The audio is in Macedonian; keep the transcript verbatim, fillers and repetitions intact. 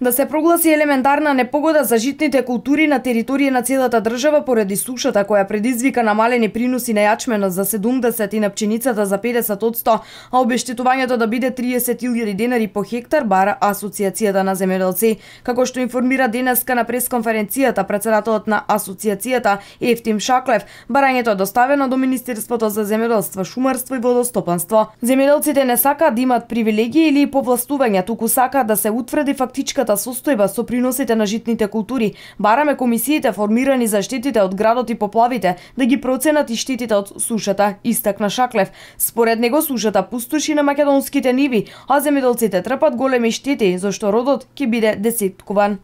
Да се прогласи елементарна непогода за житните култури на територија на целата држава поради сушата која предизвика намалени приноси на јачменот за седумдесет и на пченицата за педесет одсто, а обештетувањето да биде триесет илјади денари по хектар, бара Асоцијацијата на земјоделци. Како што информира денеска на пресконференцијата претседателот на Асоцијацијата Ефтим Шаклев, барањето е доставено до Министерството за земјоделство, шумарство и водостопанство. Земјоделците не сакаат да имат привилегии или повластувања, туку сакаат да се утврди фактичката состојба со приносите на житните култури. Бараме комисиите формирани за штетите од градот и поплавите да ги проценат и штетите од сушата, истакна Шаклев. Според него сушата пустоши на македонските ниви, а земјоделците трпат големи штети, зашто родот ќе биде десеткуван.